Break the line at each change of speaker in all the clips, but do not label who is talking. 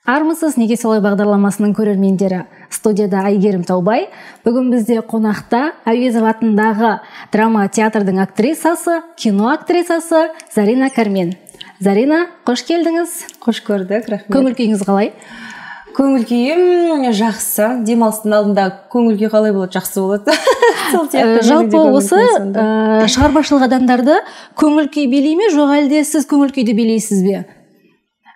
Армысыз, неге солай бағдарламасының көрермендері. Студияда Айгерім Таубай. Бүгін бізде қонақта Әуезов атындағы драма театрдың актрисасы, кино актрисасы Зарина Кармен. Зарина, қош келдіңіз.
Қош көрдік, рахмет.
Көңіл күйіңіз қалай?
Көңіл күйім жақсы. Демалыстың алдында көңіл күй қалай болады? Жақсы болады.
Жалпы осы шығармашылық адамдарды көңіл күй билей ме, жоқ әлде сіз көңіл күйді билейсіз бе?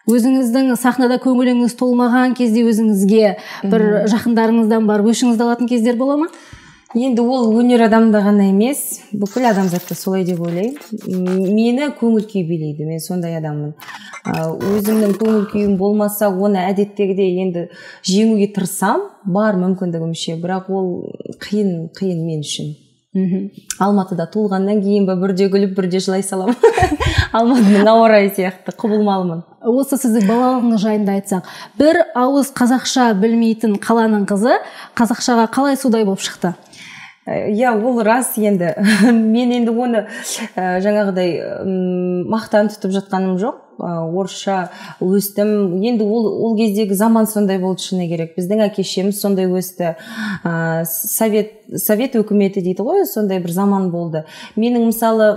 Өзіңіздің сахнада көңіліңіз толмаған кезде өзіңізге бір жақындарыңыздан барып өшіңізді алатын кездер бола ма?
Енді ол өнер адамда ғана емес, бүкіл адамзатта солай деп ойлаймын. Мені көңіл күй билейді, мен сондай адаммын. Өзімнің көңіл күйім болмаса, оны әдеттегідей енді жеңуге тырысам, бар мүмкіндігімше, бірақ ол қиын мен үшін. Алматыда туылғаннан кейін бірде күліп, бірде жылай салам. Алматының ауа райы сияқты құбылмалымын.
Осы сіздің балалығыңыз жайында айтсақ, бір ауыз қазақша білмейтін қаланың қызы қазақшаға қалай судай болып шықты?
Я, ол рас енді. Мен енді оны жаңағыдай мақтан тұтып жатқаным жоқ. Орысша өстім. Енді ол кездегі заман сондай болды шыны керек. Біздің әке-шеміз сондай өсті. Совет өкіметі дейді ғой, сондай бір заман болды. Менің мысалы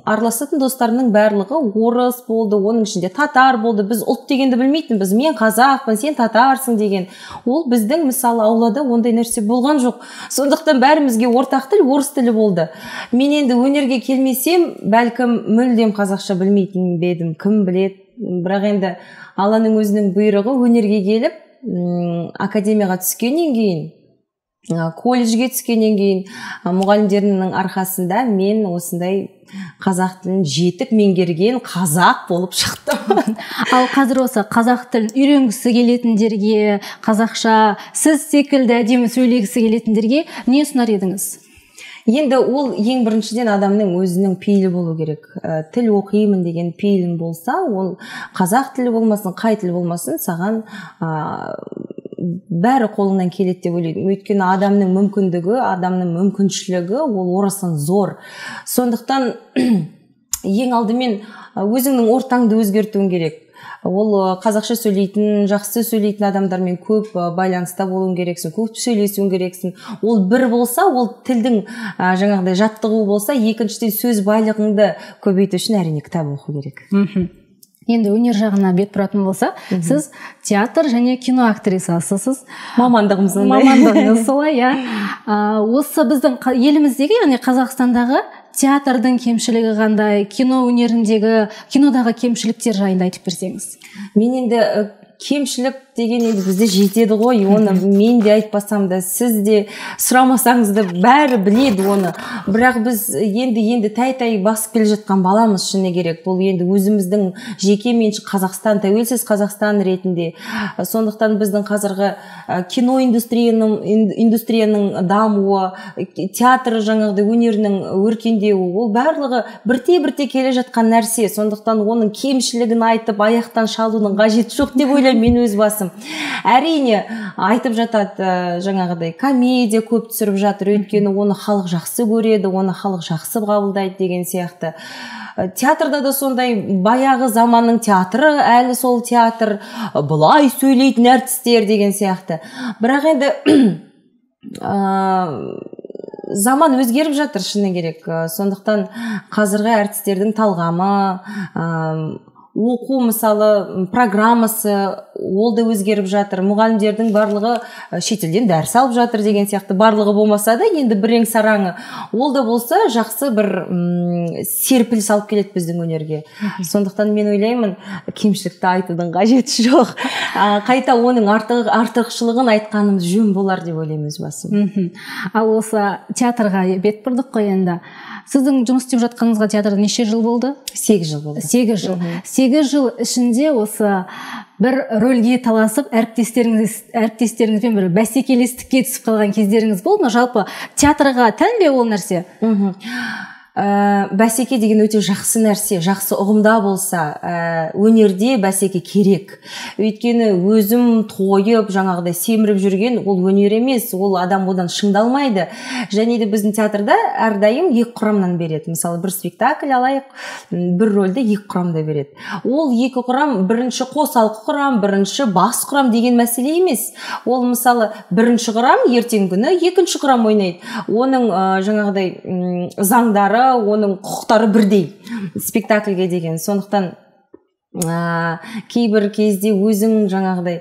араласатын достарымның барлығы орыс болды, оның ішінде татар болды. Біз ұлт дегенді білмейтінбіз. Мен қазақпын, сен татарсың деген. Ол біздің мысалы аулада ондай нәрсе болған жоқ. Сондықтан бәрімізге ортақ тіл орыс тілі болды. Мен енді өнерге келмесем, бәлкім мүлдем қазақша білмейтін бе едім, кім біледі. Бірақ енді Алланың өзінің бұйрығы өнерге келіп, академияға түскеннен кейін, колледжге түскеннен кейін, мұғалімдерінің арқасында мен осындай қазақ тілін жетік меңгерген қазақ болып шықтым.
Ал қазір осы қазақ тілін үйренгісі келетіндерге, қазақша сіз секілді әдемі сөйлегісі келетіндерге не ұсынар едіңіз?
Енді ол ең біріншіден адамның өзінің пейілі болу керек. Тіл оқимын деген пейілің болса, ол қазақ тілі болмасын, қай тіл болмасын, саған бәрі қолыңнан келеді деп ойлаймын. Өйткені адамның мүмкіндігі, адамның мүмкіншілігі ол орасан зор. Сондықтан ең алдымен өзіңнің ортаңды өзгертуің керек. Ол қазақша сөйлейтін, жақсы сөйлейтін адамдармен көп байланыста болуың керексің, көп сөйлесуің керексің. Ол бір болса, ол тілдің жаңағыдай жаттығу болса, екіншіден сөз байлығыңды көбейту үшін әрине кітап оқу керек.
Енді өнер жағына бет бұратын болса, сіз театр және кино актрисасысыз.
Мамандығымыз
солай, иә. Осы біздің еліміздегі, яғни Қазақстандағы театрдың кемшілігі қандай, кино өнеріндегі, кинодағы кемшіліктер жайында айтып берсеңіз.
Мен енді кемшілік деген енді бізде жетеді ғой, оны мен де айтпасам да, сіз де сұрамасаңыз да бәрі біледі оны. Бірақ біз енді тай басып келе жатқан баламыз шыны керек. Бұл енді өзіміздің жеке меншік Қазақстан, тәуелсіз Қазақстан ретінде. Сондықтан біздің қазіргі кино индустрияның дамуы, театр жаңағыдай өнерінің өркендеуі, ол барлығы бірте келе жатқан нәрсе. Сондықтан оның кемшілігін айтып, аяқтан шалудың қажеті жоқ деп ойлаймын мен өз басым. Әрине айтып жатады, жаңағыдай комедия көп түсіріп жатыр, өйткені оны халық жақсы көреді, оны халық жақсы қабылдайды деген сияқты. Театрда да сондай баяғы заманның театры, әлі сол театр, бұлай сөйлейтін әртістер деген сияқты. Бірақ енді заман өзгеріп жатыр шыны керек. Сондықтан қазіргі әртістердің талғамы, оқу мысалы программасы ол да өзгеріп жатыр. Мұғалімдердің барлығы шетелден дәріс алып жатыр деген сияқты. Барлығы болмаса да енді бірең сараңы ол да болса жақсы бір серпіліс алып келеді біздің өнерге. Сондықтан мен ойлаймын, кемшілікті айтудың қажеті жоқ. Қайта оның артықшылығын айтқанымыз жөн болар деп ойлаймын өз басым.
Ал осы театрға бет бұрдық қой енді. Сіздің жұмыс істеп жатқаныңызға театрда неше жыл болды?
8 жыл болды.
8 жыл. 8 жыл ішінде осы бір рөлге таласып, әріптестеріңізбен бір бәсекелестікке түсіп қалған кездеріңіз болды ма? Жалпы театрға тән бе ол нәрсе?
бәсеке деген өте жақсы нәрсе, жақсы ұғымда болса, өнерде бәсеке керек. Өйткені өзім тойып, жаңағыдай семіріп жүрген ол өнер емес, ол адам одан шыңдалмайды. Және де біздің театрда әрдайым екі құрамнан береді. Мысалы, бір спектакль алайық, бір рөлді екі құрамда береді. Ол екі құрам, бірінші қосалқы құрам, бірінші бас құрам деген мәселе емес. Ол мысалы бірінші құрам ертеңгі күні екінші құрам ойнайды. Оның жаңағыдай заңдары, оның құқықтары бірдей спектакльге деген. Сондықтан кейбір кезде өзің жаңағыдай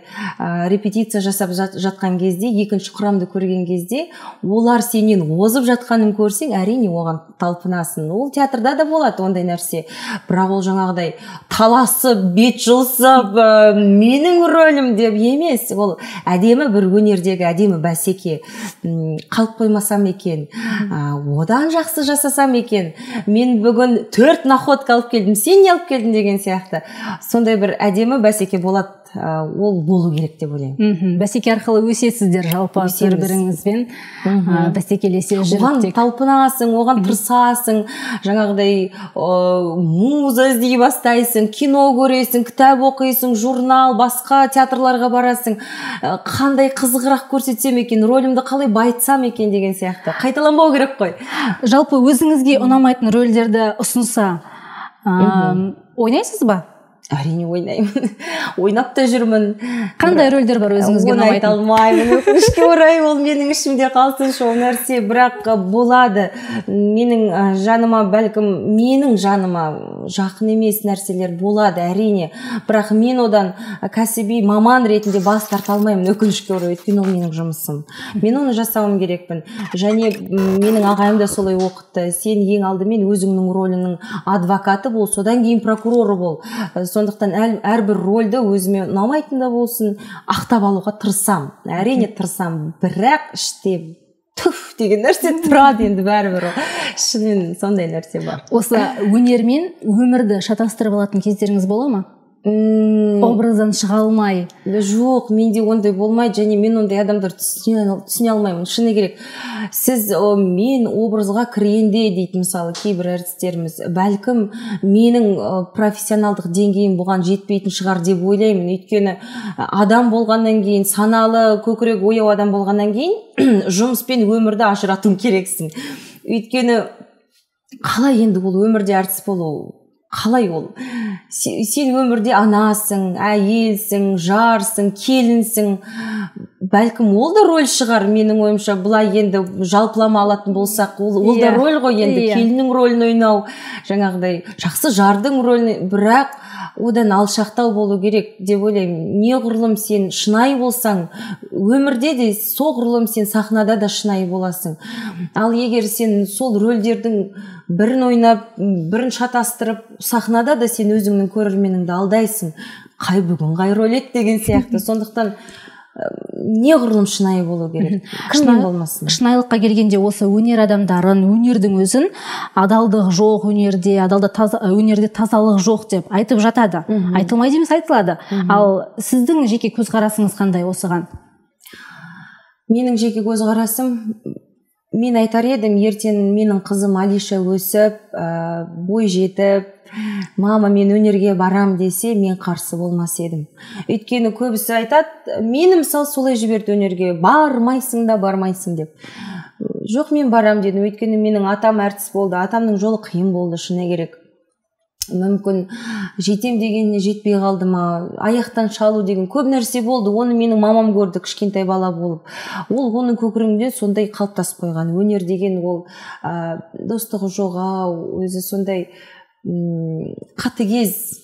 репетиция жасап жатқан кезде, екінші құрамды көрген кезде, олар сенен озып жатқанын көрсең, әрине оған талпынасың. Ол театрда да болады ондай нәрсе. Бірақ ол жаңағыдай таласып, бет жылсып, менің рөлім деп емес. Ол әдемі бір өнердегі әдемі бәсеке. Қалып қоймасам екен, одан жақсы жасасам екен, мен бүгін 4 находка алып келдім, сен не алып келдің деген сияқты. Сондай бір әдемі бәсеке болады, ол болу керек деп ойлаймын.
Бәсеке арқылы өсесіздер жалпы бір-біріңізбен бәсекелесе жүріп.
Оған талпынасың, оған тырысасың, жаңағыдай муза іздей бастайсың, кино көресің, кітап оқисың, журнал, басқа театрларға барасың, қандай қызығырақ көрсетсем екен, рөлімді қалай байытсам екен деген сияқты. Қайталанбау керек қой.
Жалпы өзіңізге ұнамайтын рөлдерді ұсынса ойнайсыз ба?
Әрине ойнаймын. Ойнап та жүрмін.
Қандай рөлдер бар өзіңізге ұнамайтын?
Оны айта алмаймын. Өкінішке орай ол менің ішімде қалсыншы ол нәрсе, бірақ болады. Менің жаныма, бәлкім менің жаныма жақын емес нәрселер болады, әрине. Бірақ мен одан кәсіби маман ретінде бас тарта алмаймын, өкінішке орай. Өйткені ол менің жұмысым. Мен оны жасауым керекпін. Және менің ағайым да солай оқытты. Сен ең алдымен өзіңнің рөлінің адвокаты бол, содан кейін прокуроры бол. Сондықтан әрбір рөлді өзіме ұнамайтын да болсын, ақтап алуға тырысам. Әрине тырысам, бірақ іште түф деген нәрсе тұрады енді бәрібір. Шынымен сондай нәрсе бар.
Осы өнермен өмірді шатастырып алатын кездеріңіз бола ма? Образдан шыға алмай?
Жоқ, менде ондай болмайды, және мен ондай адамдар түсіне алмаймын. Шыны керек, сіз мен образға кіргенде дейді мысалы кейбір әртістеріміз, бәлкім менің профессионалдық деңгейім бұған жетпейтін шығар деп ойлаймын. Өйткені адам болғаннан кейін, саналы, көкірек ояу адам болғаннан кейін жұмыспен өмірді ажырату керексің. Өйткені қалай енді ол өмірде әртіс болу? Қалай ол? Сен өмірде анасың, әйелсің, жарсың, келінсің. Бәлкім ол да рөл шығар, менің ойымша. Бұлай енді жалпылама алатын болсақ, ол да рөл ғой енді, келіннің рөлін ойнау, жаңағыдай жақсы жардың рөлін, бірақ одан алшақтау болу керек деп ойлаймын. Неғұрлым сен шынайы болсаң, өмірде де соғұрлым сен сахнада да шынайы боласың. Ал егер сен сол рөлдердің бірін ойнап, бірін шатастырып, сахнада да сен өзіңнің көрерменіңді алдайсың. Қай бүгін қай рөл еді деген сияқты. Сондықтан неғұрлым шынайы болу керек. Кімнен болмасын.
Шынайылыққа келгенде осы өнер адамдарын, өнердің өзін адалдық жоқ өнерде, өнерде тазалық жоқ деп айтып жатады. Айтылмайды емес, айтылады. Ал сіздің жеке көзқарасыңыз қандай осыған?
Менің жеке көзқарасым, мен айтар едім, ертең менің қызым Алиша өсіп, бой жетіп, мама мен өнерге барам десе, мен қарсы болмас едім. Өйткені көбісі айтады, мені мысалы солай жіберді өнерге, бармайсың да бармайсың деп. Жоқ, мен барам дедім. Өйткені менің атам әртіс болды, атамның жолы қиын болды, шыны керек. Мүмкін жетем дегеніне жетпей қалды ма, аяқтан шалу деген көп нәрсе болды. Оны менің мамам көрді кішкентай бала болып. Ол оның көкірегінде сондай қалыптасып қойған. Өнер деген ол достығы жоғау, өзі сондай қатыгез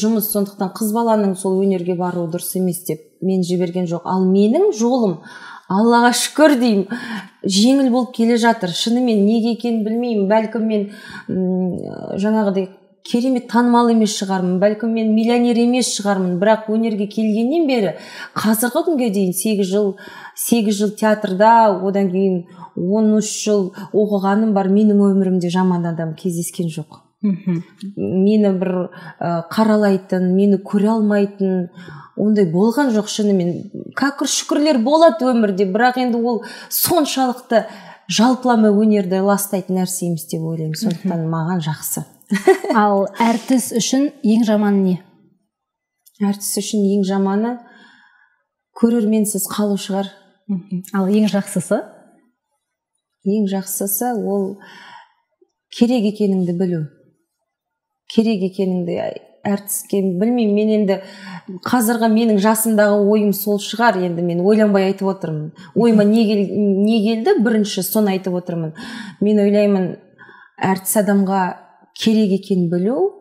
жұмыс. Сондықтан қыз баланың сол өнерге баруы дұрыс емес деп мен жіберген жоқ. Ал менің жолым, Аллаға шүкір деймін, жеңіл болып келе жатыр. Шынымен неге екенін білмеймін. Бәлкім мен жаңағыдай керемет танымал емес шығармын, бәлкім мен миллионер емес шығармын, бірақ өнерге келгеннен бері қазіргі күнге дейін 8 жыл театрда, одан кейін 13 жыл оқығаным бар. Менің өмірімде жаман адам кездескен жоқ. Мені бір қаралайтын, мені көре алмайтын ондай болған жоқ. Шынымен кәкір шүкірлер болады өмірде, бірақ енді ол соншалықты жалпылама өнерді ластайтын нәрсе емес деп ойлаймын, сондықтан маған жақсы.
Ал әртіс үшін ең жаманы не?
Әртіс үшін ең жаманы көрерменсіз қалу шығар.
Ал ең жақсысы?
Ең жақсысы ол керек екеніңді білу. Керек екеніңді әртіске білмеймін, мен енді қазіргі менің жасымдағы ойым сол шығар, енді мен ойланбай айтып отырмын. Ойыма не келді, бірінші соны айтып отырмын. Мен ойлаймын, әртіс адамға керек екенін білу,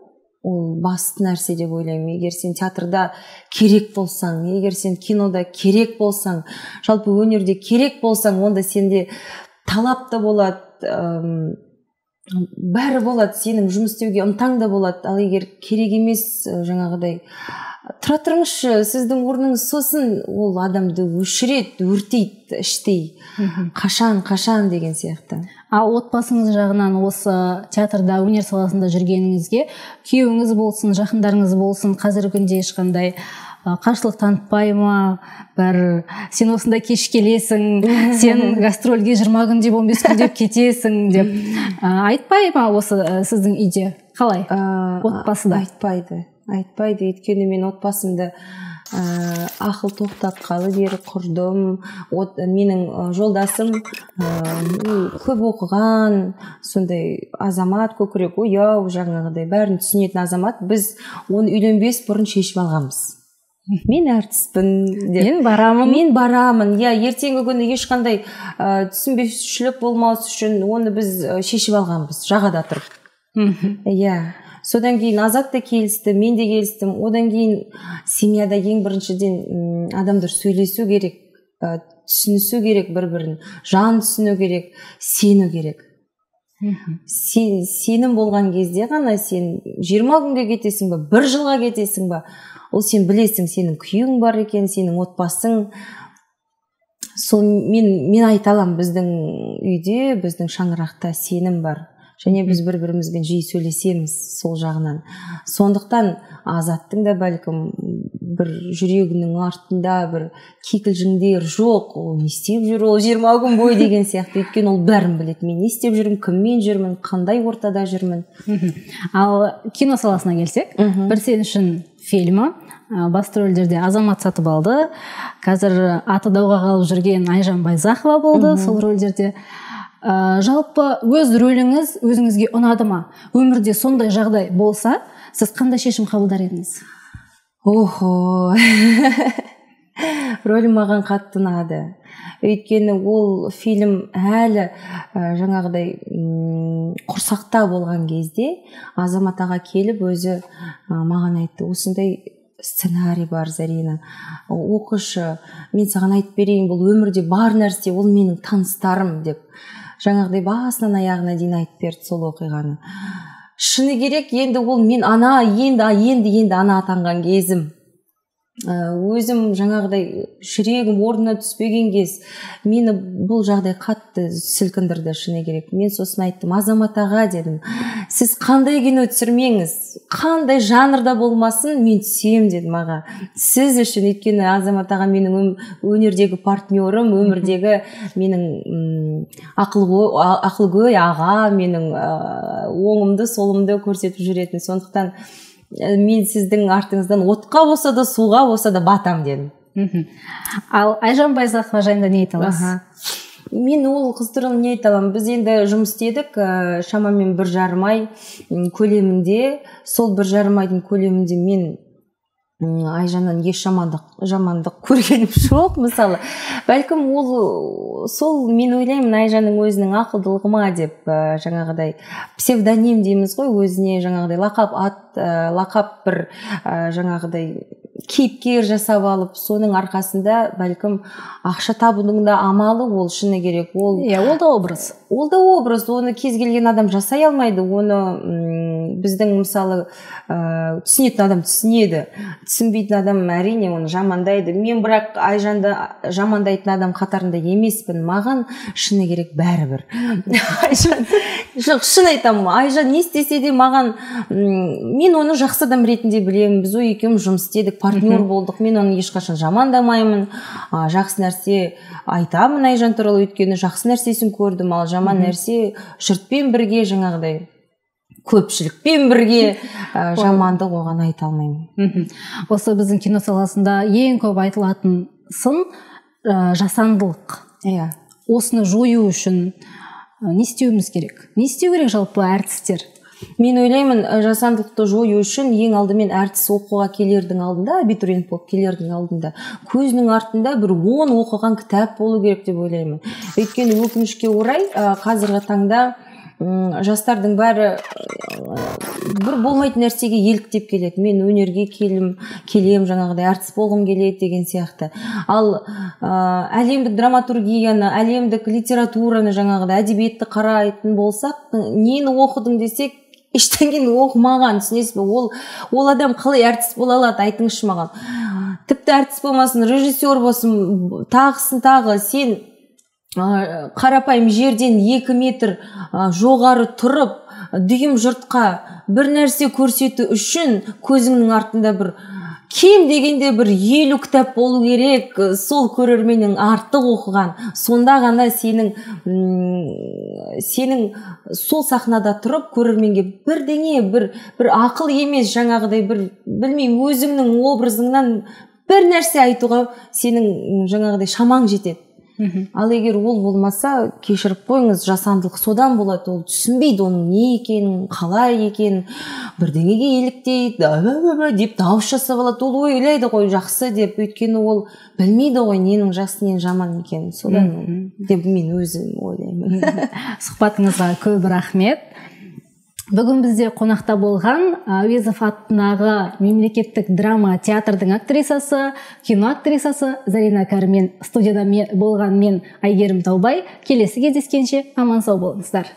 ол басты нәрсе деп ойлаймын. Егер сен театрда керек болсаң, егер сен кинода керек болсаң, жалпы өнерде керек болсаң, онда сенде талап та болады, бәрі болады, сенің жұмыс істеуге ынтаң да болады. Ал егер керек емес, жаңағыдай тұра тұрыңызшы, сіздің орныңыз сосын, ол адамды өшіреді, өртейді іштей. Қашан деген сияқты.
Ал отбасыңыз жағынан осы театрда, өнер саласында жүргеніңізге күйеуіңіз болсын, жақындарыңыз болсын, қазіргі күнде ешқандай қарсылық танытпай ма? Сен осында кеш келесің, сен гастрольге 20 күн деп 15 күн деп кетесің деп айтпай ма осы сіздің үйде? Қалай? Отбасыда?
Айтпайды. Өйткені мен отбасымды ақыл тоқтатқалы бері құрдым. Менің жолдасым көп оқыған, сондай азамат, көкірек ояу, жаңағыдай бәрін түсінетін азамат. Біз оны үйленбес бұрын шешіп алғанбыз. Мен әртіспін деп. Мен барамын. Ертеңгі күні ешқандай түсінбеушілік болмас үшін оны біз шешіп алғанбыз, жағада тұрып. Содан кейін Азат та келісті, мен де келістім. Одан кейін семьяда ең біріншіден адамдар сөйлесу керек, түсінісу керек бір-бірін, жан түсіну керек, сену керек. Сенім болған кезде ғана сен 20 күнге кетесің ба, 1 жылға кетесің ба, ол сен білесің, сенің күйің бар екен, сенің отбасың. Сол мен айта аламын, біздің үйде, біздің шаңырақта сенім бар. Және біз бір-бірімізбен жиі сөйлесеміз сол жағынан. Сондықтан Азаттың да бәлкім бір жүрегінің артында бір кикілжіңдер жоқ. Ол не істеп жүр, ол 20 күн бойы деген сияқты. Өйткені ол бәрін біледі. Мен не істеп жүрмін, кіммен жүрмін, қандай ортада жүрмін.
Ал кино саласына келсек, бір сен үшін фильмі басты рөлдерде Азамат Сатыбалды, қазір аты дауға қалып жүрген Айжан Байзақова болды сол рөлдерде. Жалпы өз рөліңіз өзіңізге ұнады ма? Өмірде сондай жағдай болса, сіз қандай шешім қабылдар едіңіз?
Рөлім маған қатты ұнады. Өйткені ол фильм әлі жаңағыдай құрсақта болған кезде Азамат аға келіп өзі маған айтты, осындай сценарий бар, Зарина, оқышы, мен саған айтып берейін, бұл өмірде бар нәрсе, ол менің таныстарым деп. Жаңағыдай басынан аяғына дейін айтып берді сол оқиғаны. Шыны керек, енді ол мен енді ана атанған кезім. Өзім жаңағыдай жүрегім орнына түспеген кез, мені бұл жағдай қатты сілкіндірді, шыны керек. Мен сосын айттым, Азамат аға дедім, сіз қандай кино түсірмеңіз, қандай жанрда болмасын, мен түсем дедім аға. Сіз үшін, өйткені Азамат аға менің өнердегі партнерім, өмірдегі менің ақылгөй аға, менің оңымды, солымды көрсетіп жүретін. Сондықтан мен сіздің артыңыздан отқа болса да, суға болса да батам дедім.
Ал Айжан Байзақова жайында не айта аласыз?
Мен ол қыз туралы не айта аламын? Біз енді жұмыс істедік, шамамен 1,5 ай көлемінде. Сол 1,5 айдың көлемінде мен Айжаннан еш жамандық көргенім жоқ, мысалы. Бәлкім ол сол мен ойлаймын Айжанның өзінің ақылдылығы ма деп, жаңағыдай псевдоним дейміз ғой, өзіне жаңағыдай лақап бір жаңағыдай кейіпкер жасап алып, соның арқасында бәлкім ақша табудың да амалы, ол шыны керек.
Ол да образ.
Оны кез келген адам жасай алмайды. Оны біздің мысалы түсінетін адам түсінеді, түсінбейтін адам әрине оны жамандайды. Мен бірақ Айжанды жамандайтын адам қатарында емеспін. Маған шыны керек бәрібір. Жоқ, шын айтамын, Айжан не істесе де маған, мен оны жақсы адам ретінде білемін. Біз екеуміз жұмыс істедік, партнер болдық. Мен оны ешқашан жамандамаймын. Жақсы нәрсе айтамын Айжан туралы, өйткені жақсы нәрсесін көрдім, ал жаман нәрсе жұртпен бірге, жаңағыдай көпшілікпен бірге жамандық оған айта алмаймын.
Осы біздің кино саласында ең көп айтылатын сын жасандылық.
Иә.
Осыны жою үшін не істеуіміз керек? Не істеу керек жалпы әртістер?
Мен ойлаймын, жасандылықты жою үшін ең алдымен әртіс оқуға келердің алдында, абитуриент болып келердің алдында көзінің артында бір 10 оқыған кітап болу керек деп ойлаймын. Өйткені өкінішке орай қазіргі таңда жастардың бәрі бір болмайтын нәрсеге еліктеп келеді. Мен өнерге келем, жаңағыдай әртіс болғым келеді деген сияқты. Ал әлемдік драматургияны, әлемдік литератураны, жаңағыдай әдебиетті қарайтын болсақ, нені оқыдың десек, ештеңені оқымаған, түсінесіз бе? Ол адам қалай әртіс бола алады, айтыңызшы маған. Тіпті әртіс болмасын, режиссер болсын, тағы сен қарапайым жерден 2 метр жоғары тұрып, дүйім жұртқа бір нәрсе көрсету үшін көзіңнің артында бір кем дегенде бір 50 кітап болу керек, сол көрерменнің артық оқыған. Сонда ғана сенің сол сахнада тұрып көрерменге бірдеңе, бір ақыл емес, жаңағыдай бір білмеймін, өзіңнің образыңнан бір нәрсе айтуға сенің жаңағыдай шамаң жетеді. Ал егер ол болмаса, кешіріп қойыңыз, жасандылық содан болады. Ол түсінбейді оның не екенін, қалай екенін, бірдеңеге еліктейді, деп дауыс жасап алады. Ол ойлайды ғой жақсы деп, өйткені ол білмейді ғой ненің жақсы, ненің жаман екенін. Содан деп мен өзім ойлаймын.
Сұхбатыңызға көп рахмет. Бүгін бізде қонақта болған Әуезов атындағы мемлекеттік драма театрдың актрисасы, кино актрисасы Зарина Кәрмен, студияда болған мен Айгерім Таубай. Келесі кездескенше аман сау болыңыздар.